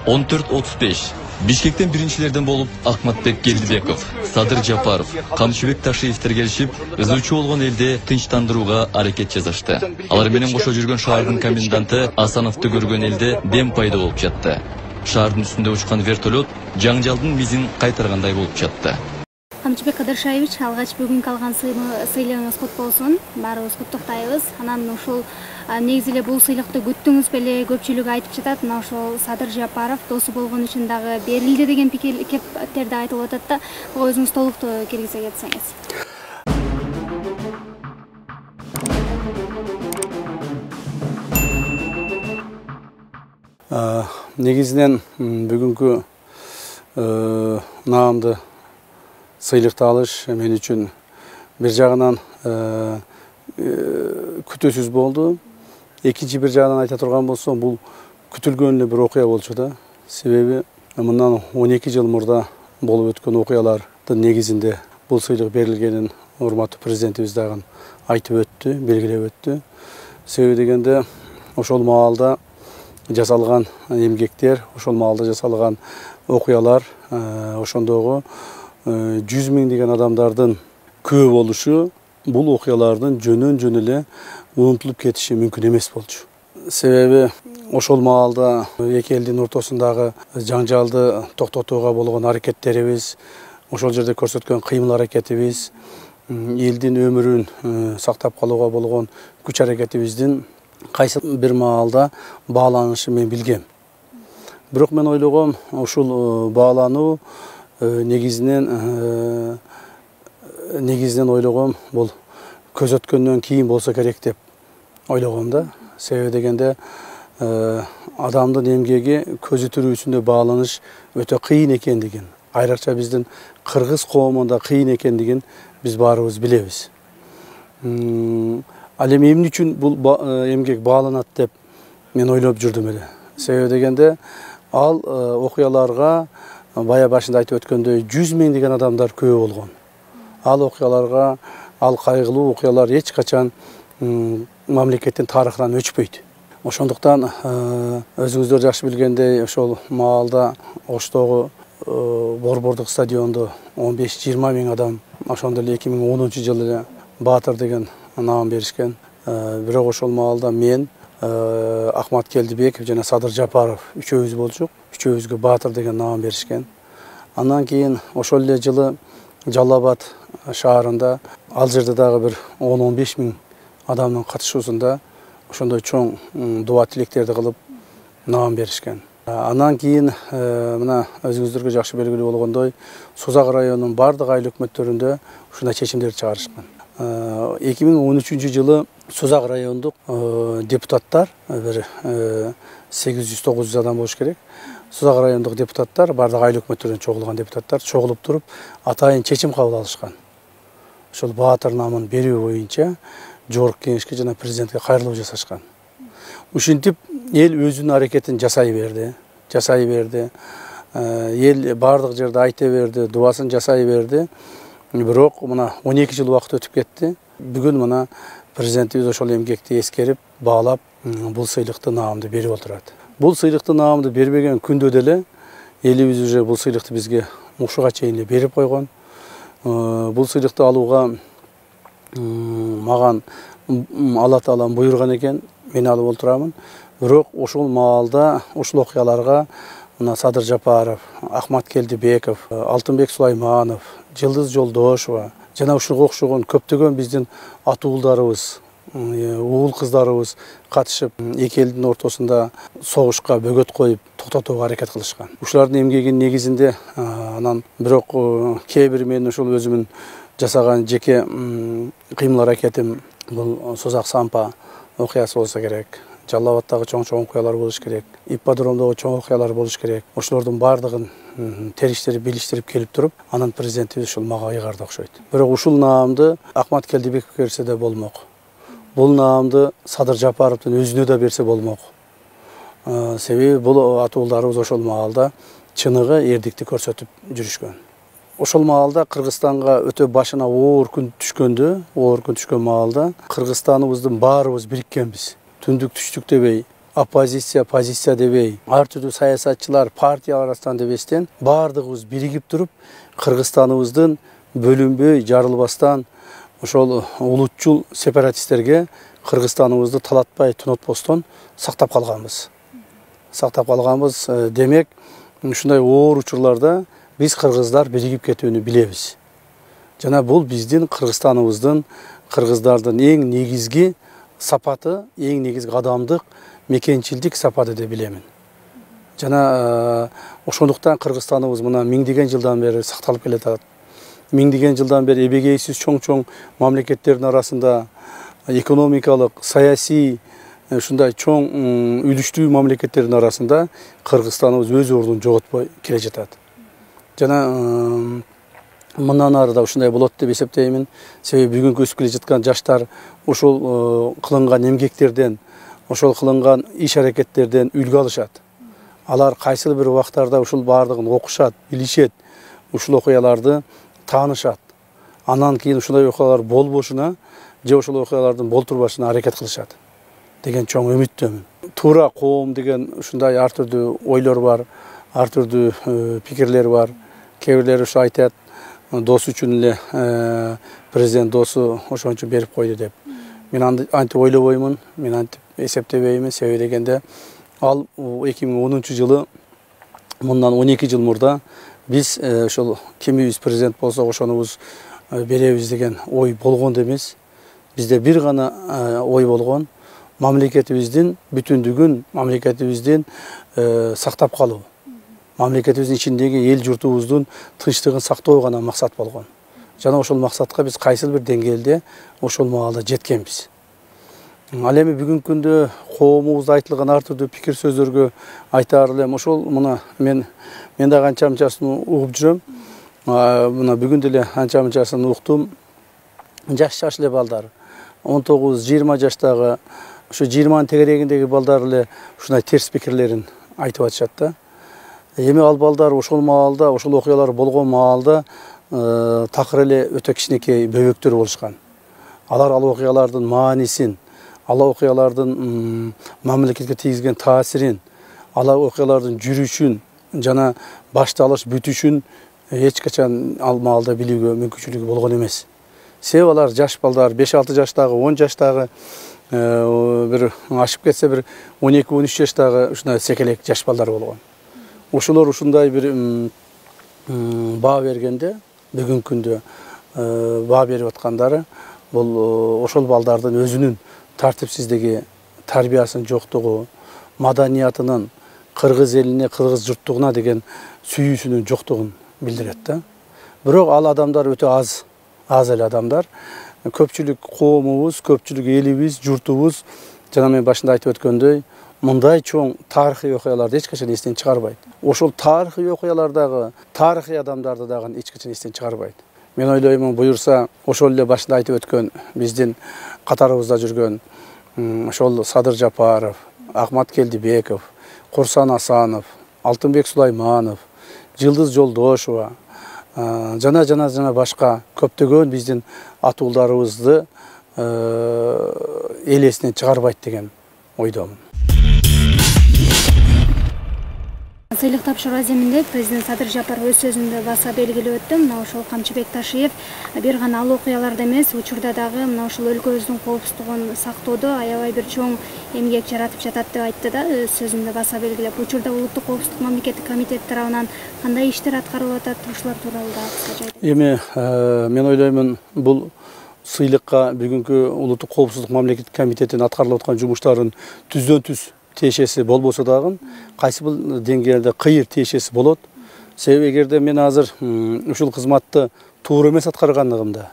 14:35 Бишкектен биринчилерден болуп Ахматбек Келдибеков, Садыр Жапаров, Камчыбек Ташиевтер келишип, ызычуу болгон элди тынчтандырууга аракет жасашты. Алар менен кошо жүргөн шаардын коменданты Асановду көргөн элде дем пайда болуп жатты. Шаардын үстүндө учкан вертолет жаңжалдын мизин кайтаргандай болуп жатты. Камчыбек Кадыршаевич, алгач бүгүнкү алган сыйлыгыңыз кут болсун. Баарыбыз куттуктайбыз. Анан ушул негизи эле бул сыйлыкты күттүңүз беле, көпчүлүк айтып жатат. Мына ошол Садыр Жапаров досу болгон үчүн дагы берилди деген кептер да айтылып атат да. Буга өзүңүз толуктуу киргизе кетсеңиз. Негизинен бүгүнкү наамды сыйлыкты алыш мен үчүн бир жагынан күтүүсүз болду. Экинчи бир жагынан айта турган болсом, бул күтүлгөн эле бир окуя болчу да. Себеби мындан 12 жыл мурда болуп өткөн окуялардын негизинде бул сыйлык берилгенин урматтуу президентибиз дагы айтып өттү, белгилеп өттү. Себеби дегенде ошол маалда жасалган эмгектер, ошол маалда жасалган окуялар, ошондогу 100 миңдеген адамдардын күбө болушу бул окуялардын жөн эле унутулуп кетиши мүмкүн эмес болчу. Себеби ошол маалда эки элдин ортосундагы жаңжалды токтотууга болгон аракеттерибиз, ошол жерде көрсөткөн кыймыл аракетибиз, элдин өмүрүн сактап калууга болгон күч аракетибиздин кайсы бир маалда бааланышы мен билгем. Бирок мен ойлогом, ушул баалануу негизинен ойлогом бул көз өткөндөн кийин болсо керек деп ойлогом да. Себеби дегенде адамдын эмгеги көзү тирүүсүндө бааланыш өтө кыйын экендигин, айрыкча биздин кыргыз коомунда кыйын экендигин биз баарыбыз билебиз. Ал эми эмне үчүн бул эмгек бааланат деп мен ойлоп жүрдүм эле. Себеби дегенде ал окуяларга бая башында айтып өткөндөй 100 миңдеген адамдар күбө болгон. Ал окуяларга, ал кайгылуу окуялар эч качан мамлекеттин тарыхынан өчпөйт. Ошондуктан өзүңүздөр жакшы билгендей, ошол маалда Оштогу борбордук стадиондо 15-20 миң адам, ошондо эле 2010-жылы эле Баатыр деген наам беришкен. Бирок ошол маалда мен, Ахмат Келдибеков жана Садыр Жапаров үчөөбүз болчук. Үчөөбүзгө Баатыр деген наам беришкен. Андан кийин ошол эле жылы Жалал Абад шаарында, ал жерде дагы бир 10-15 миң адамдын катышуусунда ошондой чоң дуа тилектерди кылып наам беришкен. Андан кийин мына өзүңүздөргө жакшы белгилүү болгондой, Созак районунун бардык айыл өкмөттөрүндө ушундай чечимдерди чыгарышкан. 2013-жылы Созак райондук депутаттар, бир 800-900 адам болуш керек. Созак райондук депутаттар, бардык айыл өкмөттөрүнөн чогулган депутаттар чогулуп туруп, атайын чечим кабыл алышкан. Ошол Баатыр наамын берүү боюнча жогорку кеңешке жана президентке кайрылуу жасашкан. Ушинтип эл өзүнүн аракетин жасай берди. Эл бардык жерде айта берди, дубасын жасай берди. Бирок мына 12 жыл убакыт өтүп кетти. Бүгүн мына президентибиз ошол эмгекти эскерип, баалап, бул сыйлыкты наамды берип отурат. Бул сыйлыкты наамды бербеген күндө деле элибиз уже бул сыйлыкты бизге ушуга чейин эле берип койгон. Бул сыйлыкты алууга маган Алла Таалам буйруган экен, мен алып отурамын. Бирок ошол маалда, ушул окуяларга мына Садыр Жапаров, Ахмат Келдибеков, Алтынбек Сулайманов, Жылдыз Жолдошова жана ушуга окшогон көптөгөн биздин атуулдарыбыз, уул кыздарыбыз катышып, эки элдин ортосунда согушка бөгөт коюп, токтотууга аракет кылышкан. Ушулардын эмгегинин негизинде анан бирок кээ бир мен ушул өзүмүн жасаган жеке кыймыл аракетим бул Созак Сампа окуясы болсо керек. Жалал Абадтагы чоң окуялар болуш керек. Ипподромдогу чоң окуялар болуш керек. Ошолордун бардыгын териштирип, билиштирип келип туруп, анан президентибиз ушул мага ыйгарды окшойт. Бирок ушул наамды Ахмат Келдибеков берсе да болмок. Бул наамды Садыр Жапаровдун өзүнө да берсе болмок. Себеби бул атуулдарыбыз ошол маалда чыныгы эрдикти көрсөтүп жүрүшкөн. Ошол маалда Кыргызстанга өтө башына оор күн түшкөн маалда Кыргызстаныбыздын баарыбыз бириккенбиз. Түндүк түштүк дебей, оппозиция, позиция дебей, ар түрдүү саясатчылар, партиялар арасынан дебестен баардыгыбыз биригип туруп, Кыргызстаныбыздын бөлүнбөй, жарылбастан ошол улутчул сепаратисттерге Кыргызстаныбызды талатпай, тунатпостон сактап калганбыз. Демек, ушундай оор учурларда биз кыргыздар биригип кетүүнү билебиз. Жана бул биздин Кыргызстаныбыздын, кыргыздардын эң негизги сапаты, эң негизги адамдык, мекенчилдик сапаты деп билемин. Жана ошондуктан Кыргызстаныбыз мына миңдеген жылдан бери сакталып келатат. Миңдеген жылдан бери эбегейсиз чоң мамлекеттердин арасында экономикалык, саясий ушундай чоң үлүчтүү мамлекеттердин арасында Кыргызстаныбыз өз ордун жоготпой келе жатат. Жана мындан ары да ушундай болот деп эсептеймин. Себеби бүгүнкү өсүп келе жаткан жаштар ошол кылынган эмгектерден, ошол кылынган иш-аракеттерден үлгү алышат. Алар кайсыл бир убактарда ушул баардыгын окушат, билишет, ушул окуяларды таанышат. Андан кийин ушундай окуялар болбошуна же ошол окуялардын болтурбашына аракет кылышат деген чоң үмүттөмүн. Туура коом деген ушундай ар түрдүү ойлор бар, ар түрдүү пикирлер бар. Кээ бирлери ушу айтат, досу үчүн эле президент досу ошончо берип койду деп. Мен антип ойлобоймун, мен антип эсептебеймин. Себеби дегенде ал 2010-жылы, мындан 12 жыл мурда биз ошол кимибиз президент болсок ошонубуз беребиз деген ой болгон эмес. Бизде бир гана ой болгон, мамлекетибиздин бүтүндүгүн, мамлекетибиздин сактап калуу, мамлекетибиздин ичиндеги эл журтубуздун тынчтыгын сактоо гана максат болгон. Жана ошол максатка биз кайсыл бир деңгээлде ошол маалда жеткенбиз. Ал эми бүгүнкү күндө коомубузда айтылган ар түрдүү пикир сөздөргө айтаар элем. Ошол мына мен да канча-мынчасын угуп жүрөм. Мына бүгүн деле канча-мынчасын уктум. Жаш эле балдар, 19-20 жаштагы, ушу 20-нын тегерегиндеги балдар эле ушундай терс пикирлерин айтып атышат да. Эми ал балдар ошол маалда, ошол окуялар болгон маалда такыр эле өтө кичинекей бөбөктөр болушкан. Алар ал окуялардын маанисин, ал окуялардын мамлекетке тийгизген таасирин, ал окуялардын жүрүшүн жана башталыш бүтүшүн эч качан ал маалда билүүгө мүмкүнчүлүгү болгон эмес. Себеби алар жаш балдар, 5-6 жаштагы, 10 жаштагы, бир ашып кетсе бир 12-13 жаштагы ушундай секелек жаш балдар болгон. Ошолор ушундай бир баа бергенде, бүгүнкү күндө баа берип аткандары бул ошол балдардын өзүнүн тартипсиздиги, тарбиясынын жоктугу, маданиятынын кыргыз элине, кыргыз журттугуна деген сүйүүсүнүн жоктугун билдирет да. Бирок ал адамдар өтө аз эле адамдар. Көпчүлүк коомубуз, көпчүлүк элибиз, журтубуз жана мен башында айтып өткөндөй, мындай чоң тарыхый окуяларды эч качан эстен чыгарбайт. Ошол тарыхый окуялардагы тарыхый адамдарды дагы эч качан эстен чыгарбайт. Мен ойлоймун, буюрса ошол эле башында айтып өткөн биздин катарыбызда жүргөн ошол Садыр Жапаров, Ахмат Келдибеков, Курсан Асанов, Алтынбек Сулайманов, Жылдыз Жолдошова жана башка көптөгөн биздин атуулдарыбызды эл эсинен чыгарбайт деген ойдомун. Сыйлык тапшыруу аземинде президент Садыр Жапаров өз сөзүндө баса белгилеп өттү. Мына ошол Камчыбек Ташиев бир гана ал окуяларда эмес, учурда дагы мына ошол өлкөбүздүн коопсуздугун сактоодо аябай бир чоң эмгек жаратып жатат деп айтты да, өз сөзүндө баса белгилеп. Учурда улуттук коопсуздук мамлекеттик комитет тарабынан кандай иштер аткарылып атат, ушулар тууралуу да кыскача айтып. Эми мен ойлоймун, бул сыйлыкка бүгүнкү улуттук коопсуздук мамлекеттик комитетинин аткарылып аткан жумуштарын түздөн-түз тиешеси болбосо дагы кайсы бир деңгээлде кыйыр тиешеси болот. Себеби эгерде мен азыр ушул кызматты туура эмес аткаргандыгымда,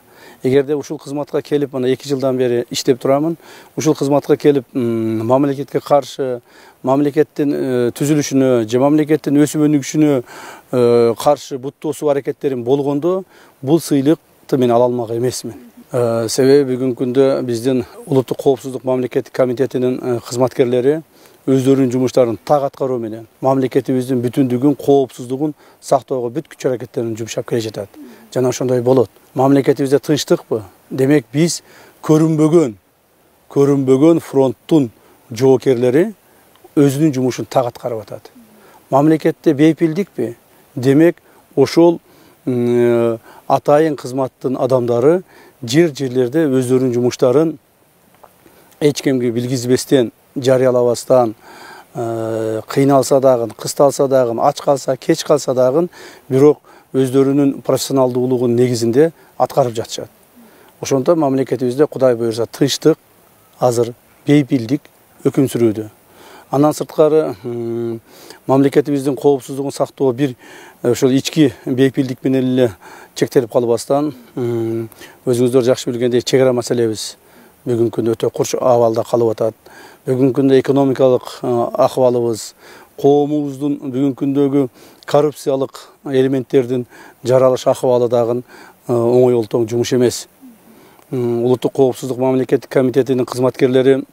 эгерде ушул кызматка келип мына 2 жылдан бери иштеп турамын, ушул кызматка келип мамлекетке каршы, мамлекеттин түзүлүшүнө же мамлекеттин өсүп өнүгүшүнө каршы бут тосуу аракеттерим болгондо, бул сыйлыкты мен ала алмак эмесмин. Себеби бүгүнкү күндө биздин улуттук коопсуздук мамлекеттик комитетинин кызматкерлери өздөрүнүн жумуштарын так аткаруу менен мамлекетибиздин бүтүндүгүн, коопсуздугун сактоого бүт күч аракеттерин жумшап келе жатат. Жана ошондой болот. Мамлекетибизде тынчтыкпы? Демек биз көрүнбөгөн фронттун жоокерлери, өзүнүн жумушун так аткарып атат. Мамлекетте бейпилдикпи? Демек, ошол атайын кызматтын адамдары жерлерде өздөрүнүн жумуштарын эч кимге билгизбестен, жарыялабастан, кыйналса дагы, кысталса дагы, ач калса, кеч калса дагы, бирок өздөрүнүн профессионалдуулугунун негизинде аткарып жатышат. Ошондо мамлекетибизде Кудай буйрса тынчтык, азыр бейпилдик өкүм сүрүүдө. Андан сырткары мамлекетибиздин коопсуздугун сактоо бир ошол ички бейпилдик менен эле чектелип калбастан, өзүңүздөр жакшы билгендей чек ара маселебиз бүгүнкү күндө өтө курч абалда калып атат. Бүгүнкү күндө экономикалык акыбалыбыз, коомубуздун бүгүнкү күндөгү коррупциялык элементтердин жаралыш акыбалы дагы оңой олтоң жумуш эмес. Улуттук коопсуздук мамлекеттик комитетинин кызматкерлери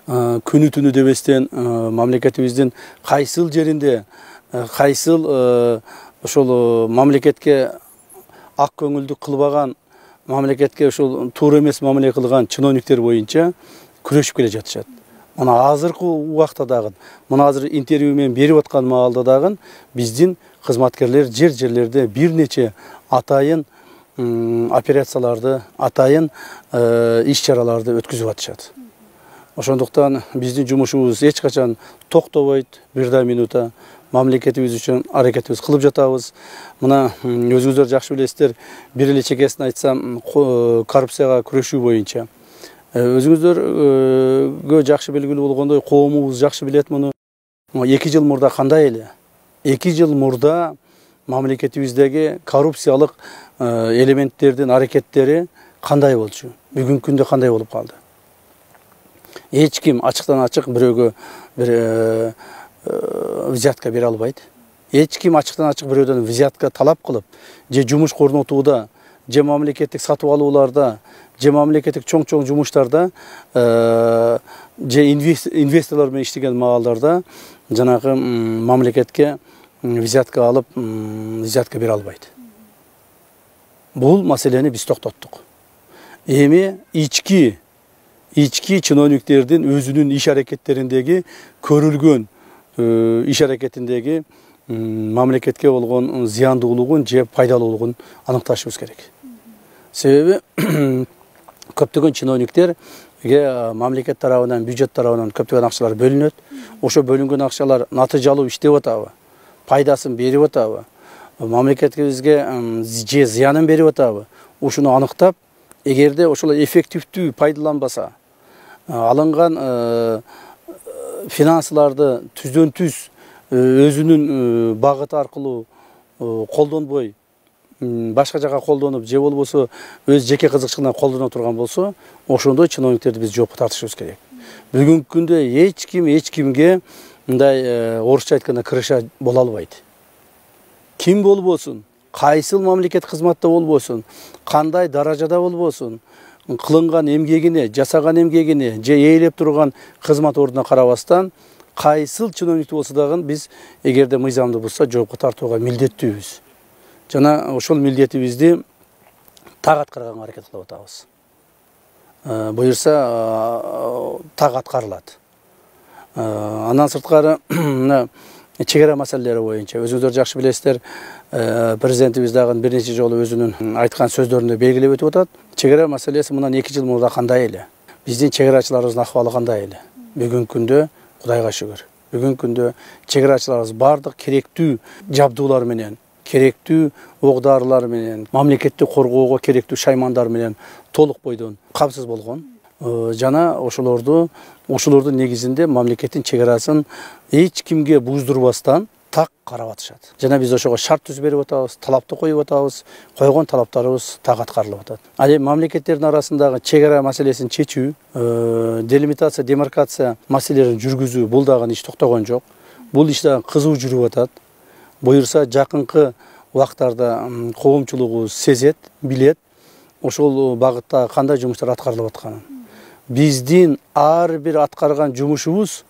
күнү түнү дебестен мамлекетибиздин кайсыл жеринде, кайсыл ошол мамлекетке ак көңүлдүк кылбаган, мамлекетке ошол туура эмес мамиле кылган чиновниктер боюнча күрөшүп келе жатышат. Мына азыркы убакта дагы, мына азыр интервью менен берип аткан маалда дагы биздин кызматкерлер жерлерде бир нече атайын операцияларды, атайын иш чараларды өткүзүп атышат. Ошондуктан биздин жумушубуз эч качан токтобойт, бир да минута мамлекетибиз үчүн аракетибиз кылып жатабыз. Мына өзүңүздөр жакшы билесиздер, бир эле чекесин айтсам, коррупцияга күрөшүү боюнча. Өзүңүздөргө жакшы белгилүү болгондой, коомубуз жакшы билет муну. 2 жыл мурда кандай эле? 2 жыл мурда мамлекетибиздеги коррупциялык элементтердин аракеттери кандай болчу? Бүгүнкү күндө кандай болуп калды? Эч ким ачыктан ачык бирөөгө бир взятка бере албайт. Эч ким ачыктан ачык бирөөдөн взятка талап кылып, же жумуш корнотууда, же мамлекеттик сатып алууларда, же мамлекеттик чоң жумуштарда, же инвесторлор менен иштеген маалдарда жанагы мамлекетке взятка алып, взятка бере албайт. Бул маселени биз токтоттук. Эми ички чиновниктердин өзүнүн иш аракеттериндеги көрүлгөн иш аракетиндеги мамлекетке болгон зыяндуулугун же пайдалуулугун аныкташыбыз керек. Себеби көптөгөн чиновниктерге мамлекет тарабынан, бюджет тарабынан көптөгөн акчалар бөлүнөт. Ошо бөлүнгөн акчалар натыйжалуу иштеп атабы, пайдасын берип атабы, мамлекетибизге же зыянын берип атабы, ушуну аныктап, эгерде ошол эффективдүү пайдаланбаса, алынган финансыларды түздөн түз өзүнүн багыты аркылуу колдонбой, башка жака колдонуп, же болбосо өз жеке кызыкчылыгынан колдоно турган болсо, ошондой чиновниктерди биз жоопко тартышыбыз керек. Бүгүнкү күндө эч кимге мындай орусча айтканда крыша боло албайт. Ким болбосун, кайсыл мамлекет кызматта болбосун, кандай даражада болбосун, кылынган эмгегине, жасаган эмгегине, же ээлеп турган кызмат ордуна карабастан, кайсыл чиновник болсо дагы биз эгерде мыйзамды бузса жоопко тартууга милдеттүүбүз. Жана ошол милдетибизди так аткарганга аракет кылып атабыз. Буюрса так аткарылат. Андан сырткары чек ара маселелери боюнча өзүңүздөр жакшы билесиздер, президентибиз дагы бир нече жолу өзүнүн айткан сөздөрүндө белгилеп өтүп атат. Чек ара маселеси мындан 2 жыл мурда кандай эле? Биздин чек арачыларыбыздын акыбалы кандай эле? Бүгүнкү күндө Кудайга шүгүр. Бүгүнкү күндө чек арачыларыбыз бардык керектүү жабдуулар менен, керектүү ок-дарылар менен, мамлекетти коргоого керектүү шаймандар менен толук бойдон камсыз болгон. Жана ошолордун негизинде мамлекеттин чек арасын эч кимге буздурбастан так карап атышат. Жана биз ошого шарт түзүп берип атабыз, талапты коюп атабыз, койгон талаптарыбыз так аткарылып атат. Ал эми мамлекеттердин арасындагы чек ара маселесин чечүү, делимитация, демаркация маселелерин жүргүзүү, бул дагы иш токтогон жок. Бул иш дагы кызуу жүрүп атат. Буюрса жакынкы убактарда коомчулугубуз сезет, билет, ошол багытта кандай жумуштар аткарылып атканын. Биздин ар бир аткарган жумушубуз,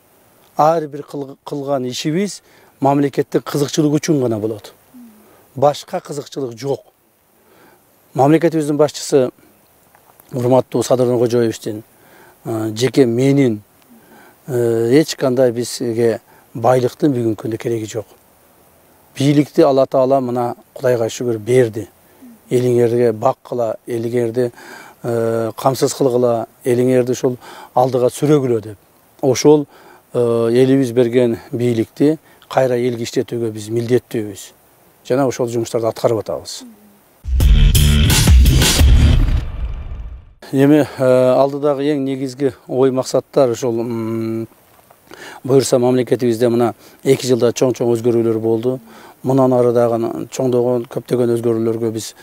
ар бир кылган ишибиз мамлекеттик кызыкчылык үчүн гана болот. Башка кызыкчылык жок. Мамлекетибиздин башчысы, урматтуу Садыр Нуркожоевичтин, жеке менин, Кудайга шүгүр, бүгүнкү күндө Кудайга шүгүр, бүгүнкү күндө эч кандай бизге байлыктын бүгүнкү күндө кереги жок. Бийликти Алла Таала мына Кудайга шүгүр берди. Элиңерге баккыла, элиңерди камсыз кылгыла, элиңерди ошол алдыга сүрөгүлө деп. Ошол элибиз берген бийликти кайра элге иштетүүгө биз милдеттүүбүз. Жана ошол жумуштарды аткарып атабыз. Эми алдыдагы эң негизги ой максаттар ошол буюрса мамлекетибизде мына 2 жылда чоң өзгөрүүлөр болду. Мындан ары дагы чоңдогон көптөгөн өзгөрүүлөргө биз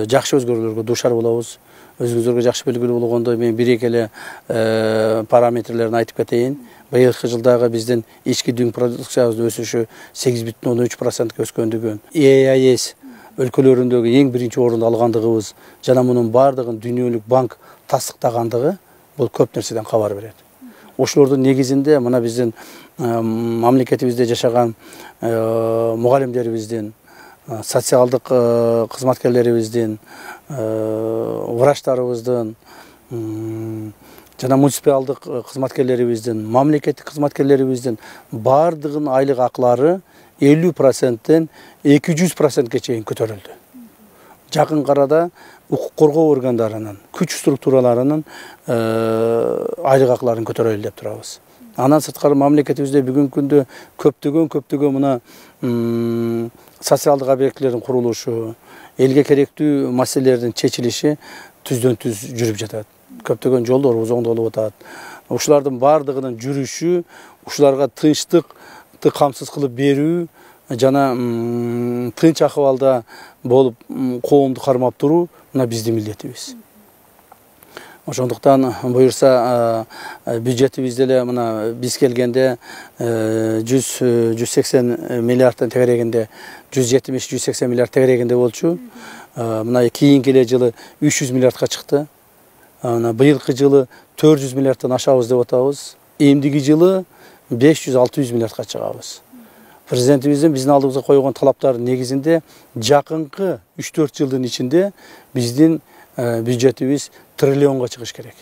жакшы өзгөрүүлөргө дуушар болобуз. Өзүңүзгө жакшы белгилүү болгондой мен бир-эки эле параметрлерин айтып кетейин. Быйылкы жылдагы биздин ички дүң продукциябыздын өсүшү 8,3%га өскөндүгүн, ЕАЭС өлкөлөрүндөгү эң биринчи орунду алгандыгыбыз жана мунун баардыгын Дүйнөлүк банк тастыктагандыгы бул көп нерседен кабар берет. Ошолордун негизинде мына биздин мамлекетибизде жашаган мугалимдерибиздин, социалдык кызматкерлерибиздин, врачтарыбыздын жана муниципалдык кызматкерлерибиздин, мамлекеттик кызматкерлерибиздин баардыгынын айлык акылары 50%тен 200%ге чейин көтөрүлдү. Жакын арада укук коргоо органдарынын, күч структураларынын айлык акыларын көтөрөлү деп турабыз. Андан сырткары мамлекетибизде бүгүнкү күндө көптөгөн мына социалдык объектилердин курулушу, элге керектүү маселелердин чечилиши түздөн түз жүрүп жатат. Көптөгөн жолдорубуз оңдолуп атат. Ушулардын баардыгынын жүрүшү, ушуларга тынчтыкты камсыз кылып берүү жана тынч акыбалда болуп коомду кармап туруу мына биздин милдетибиз. Ошондуктан буюрса бюджетибизде эле мына биз келгенде 180 миллиардтан тегерегинде 170-180 миллиард тегерегинде болчу. Мына кийинки эле жылы 300 миллиардка чыкты. Быйылкы жылы 400 миллиардтан ашабыз деп атабыз. Эмдиги жылы 500-600 миллиардка чыгабыз. Президентибиздин биздин алдыбызга койгон талаптардын негизинде жакынкы 3-4 жылдын ичинде биздин бюджетибиз триллионго чыгыш керек.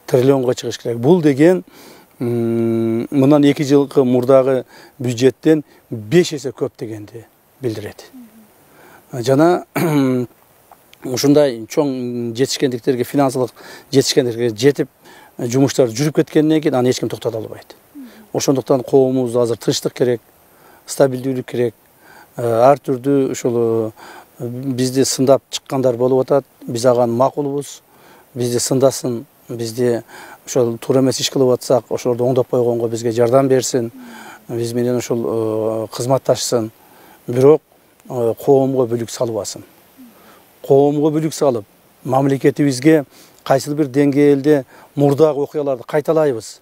Триллионго чыгыш керек. Бул деген мындан 2 жылкы мурдагы бюджеттен 5 эсе көп дегенди билдирет. Жана ушундай чоң жетишкендиктерге, финансылык жетишкендиктерге жетип жумуштар жүрүп кеткенден кийин аны эч ким токтото албайт. Ошондуктан коомубузда азыр тынчтык керек, стабилдүүлүк керек. Ар түрдүү ушул бизди сындап чыккандар болуп атат. Биз ага макулбуз. Бизди сындасын, бизди ошол туура эмес иш кылып атсак, ошолорду оңдоп койгонго бизге жардам берсин. Биз менен ошол кызматташсын. Бирок коомго бүлүк салбасын. Коомго бүлүк салып, мамлекетибизге кайсыл бир деңгээлде мурдагы окуяларды кайталайбыз.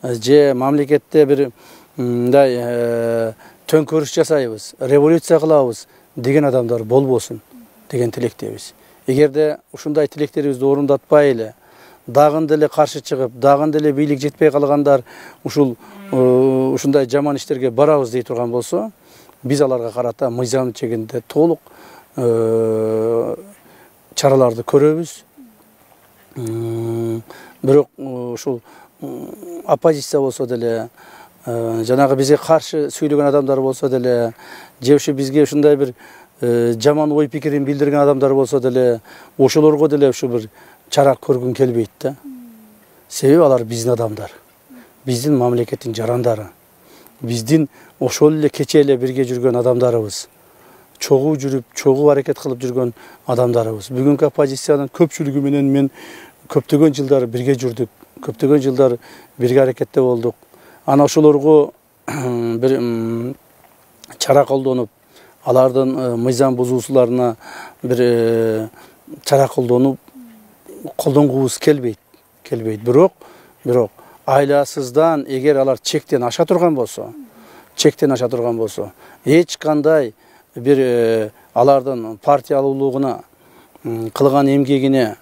Же мамлекетте бир мындай төңкөрүш жасайбыз, революция кылабыз деген адамдар болбосун деген тилектебиз. Эгерде ушундай тилектерибизди орундатпай эле, дагы деле каршы чыгып, дагы деле бийлик жетпей калгандар ушундай жаман иштерге барабыз дей турган болсо, биз аларга карата мыйзам чегинде толук чараларды көрөбүз. Бирок ушул оппозиция болсо деле, жанагы бизге каршы сүйлөгөн адамдар болсо деле, же ушу бизге ушундай бир жаман ой пикирин билдирген адамдар болсо деле, ошолорго деле ушу бир чара көргүн келбейт да. Себеби алар биздин адамдар, биздин мамлекеттин жарандары, биздин ошол эле кече эле бирге жүргөн адамдарыбыз, чогуу жүрүп, чогуу аракет кылып жүргөн адамдарыбыз. Бүгүнкү оппозициянын көпчүлүгү менен мен көптөгөн жылдар бирге жүрдүк, көптөгөн жылдар бирге аракетте болдук. Ана ошолорго бир чара колдонуп, алардын мыйзам бузуусуларына бир чара колдонгубуз келбейт. Бирок айласыздан эгер алар чектен аша турган болсо, эч кандай бир алардын партиялуулугуна, кылган эмгегине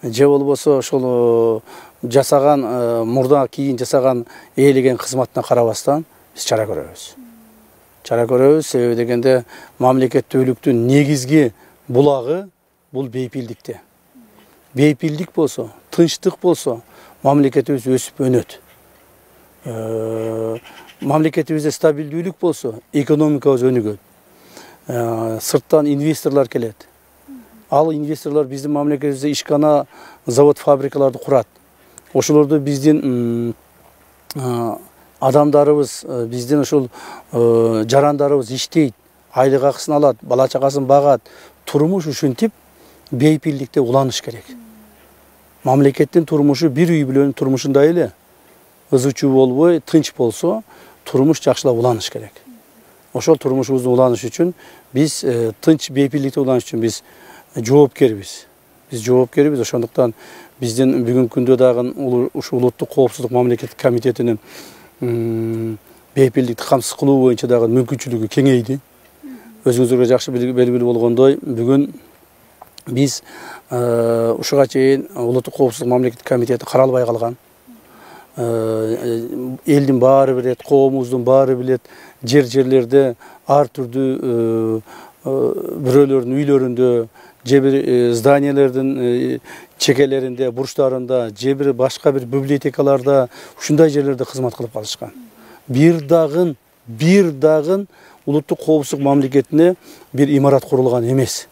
же болбосо ошол жасаган мурда кийин жасаган ээлеген кызматына карабастан биз чара көрөбүз. Себеби дегенде мамлекеттүүлүктүн негизги булагы бул бейпилдикте. Бейпилдик болсо, тынчтык болсо, мамлекетибиз өсүп өнөт. Мамлекетибизде стабилдүүлүк болсо, экономикабыз өнүгөт. Сырттан инвесторлор келет. Ал инвесторлор биздин мамлекетибизде ишкана, завод, фабрикаларды курат. Ошолорду биздин адамдарыбыз, биздин ошол жарандарыбыз иштейт, айлык акысын алат, бала чакасын багат. Турмуш ушинтип бейпилдикте уланыш керек. Мамлекеттин турмушу бир үй бүлөнүн турмушундай эле. Ызычуу болбой, тынч болсо, турмуш жакшылап уланыш керек. Ошол турмушубузду уланыш үчүн биз тынч бейпилдикте уланыш үчүн биз жоопкербиз. Ошондуктан биздин бүгүнкү күндө дагы ушу улуттук коопсуздук мамлекеттик комитетинин бейпилдикти камсыз кылуу боюнча дагы мүмкүнчүлүгү кеңейди. Өзүңүзгө жакшы белгилүү болгондой, бүгүн биз ушуга чейин улуттук коопсуздук мамлекеттик комитети каралбай калган. Элдин баары билет, коомубуздун баары билет, жерлерде ар түрдүү бирөөлөрдүн үйлөрүндө, же бир зданиялардын чекелеринде, бурчтарында, же бир башка бир библиотекаларда, ушундай жерлерде кызмат кылып калышкан. Бир дагы улуттук коопсуздук мамлекетине бир имарат курулган эмес.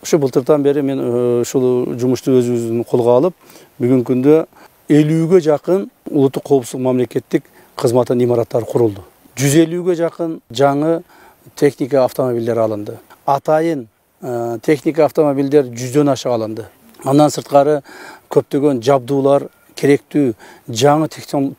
Ошо былтыртан бери мен ушул жумушту өзүбүздүн колго алып, бүгүнкү күндө 50-ге жакын улуттук коопсуздук мамлекеттик кызматтын имараттары курулду. 150-ге жакын жаңы техника автомобилдер алынды. Атайын техника автомобилдер 100дөн ашык алынды. Андан сырткары көптөгөн жабдуулар, керектүү жаңы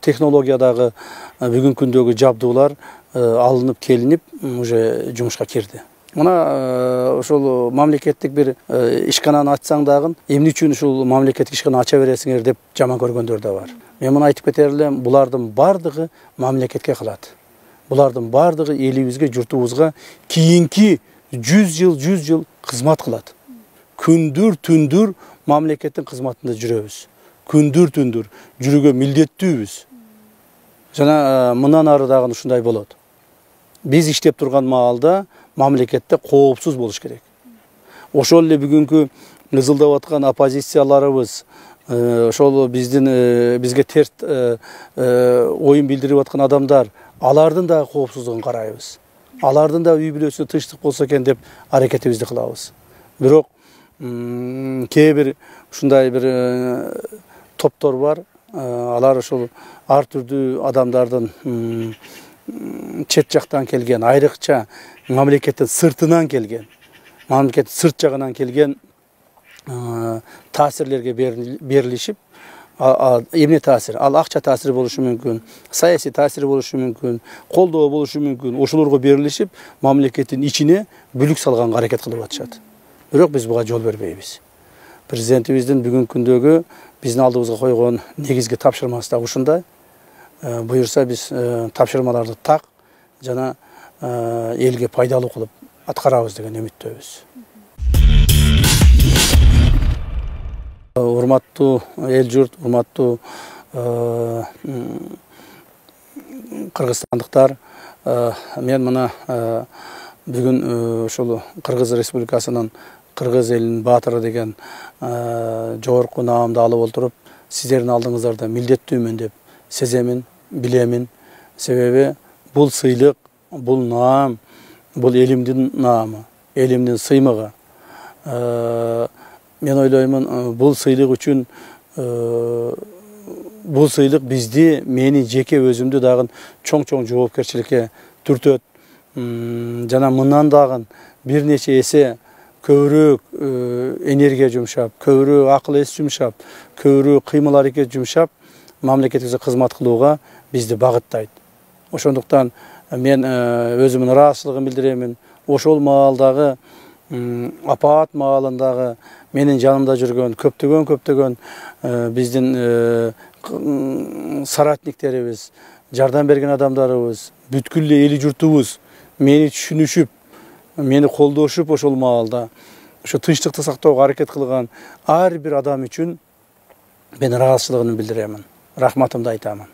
технологиядагы бүгүнкү күндөгү жабдуулар алынып келинип уже жумушка кирди. Мына ошол мамлекеттик бир ишкананы ачсаң дагы, эмне үчүн ушул мамлекеттик ишкана ача бересиңер деп жаман көргөндөр да бар. Мен муну айтып кетер элем, булардын бардыгы мамлекетке калат. Булардын бардыгы элибизге, журтубузга кийинки 100 жыл кызмат кылат. Күндүр-түндүр мамлекеттин кызматында жүрөбүз. Күндүр-түндүр жүрүүгө милдеттүүбүз. Жана мындан ары дагы ушундай болот. Биз иштеп турган маалда мамлекетте коопсуз болуш керек. Ошол эле бүгүнкү ызылдап аткан оппозицияларыбыз, ошол бизге терс оюн билдирип аткан адамдар, алардын дагы коопсуздугун карайбыз. Алардын да үй бүлөсүнө тынчтык болсо экен деп аракетибизди кылабыз. Бирок кээ бир ушундай бир топтор бар, алар ошол ар түрдүү адамдардын чет жактан келген, айрыкча мамлекеттин сыртынан келген, мамлекеттин сырт жагынан келген таасирлерге берилишип, эмне таасир? Ал акча таасири болушу мүмкүн, саясий таасири болушу мүмкүн, колдоо болушу мүмкүн. Ошолорго берилишип, мамлекеттин ичине бүлүк салганга аракет кылып атышат. Бирок биз буга жол бербейбиз. Президентибиздин бүгүнкү күндөгү биздин алдыбызга койгон негизги тапшырмасы да ушундай. Буюрса биз тапшырмаларды так жана элге пайдалуу кылып аткарабыз деген үмүттөбүз. Урматтуу эл журт, урматтуу кыргызстандыктар, мен мына бүгүн ушул Кыргыз Республикасынын Кыргыз элинин баатыры деген жогорку наамды алып отуруп, сиздердин алдыңыздарда милдеттүүмүн деп сеземин, билемин. Себеби бул сыйлык, бул наам, бул элимдин наамы, элимдин сыймыгы. Мен ойлоймун, бул сыйлык үчүн бул сыйлык бизди, мени жеке өзүмдү дагы чоң жоопкерчиликке түртөт. Жана мындан дагы бир нече эсе көбүрөөк энергия жумшап, көбүрөөк акыл эс жумшап, көбүрөөк кыймыл аракет жумшап, мамлекетибизге кызмат кылууга бизди багыттайт. Ошондуктан мен өзүмдүн ыраазычылыгымды билдиремин. Ошол маалдагы апаат маалындагы менин жанымда жүргөн көптөгөн биздин соратниктерибиз, жардам берген адамдарыбыз, бүткүл эле эли журтубуз мени түшүнүшүп, мени колдошуп, ошол маалда ошо тынчтыкты сактоого аракет кылган ар бир адам үчүн мен ыраазычылыгымды билдиремин. Рахматымды айтамын.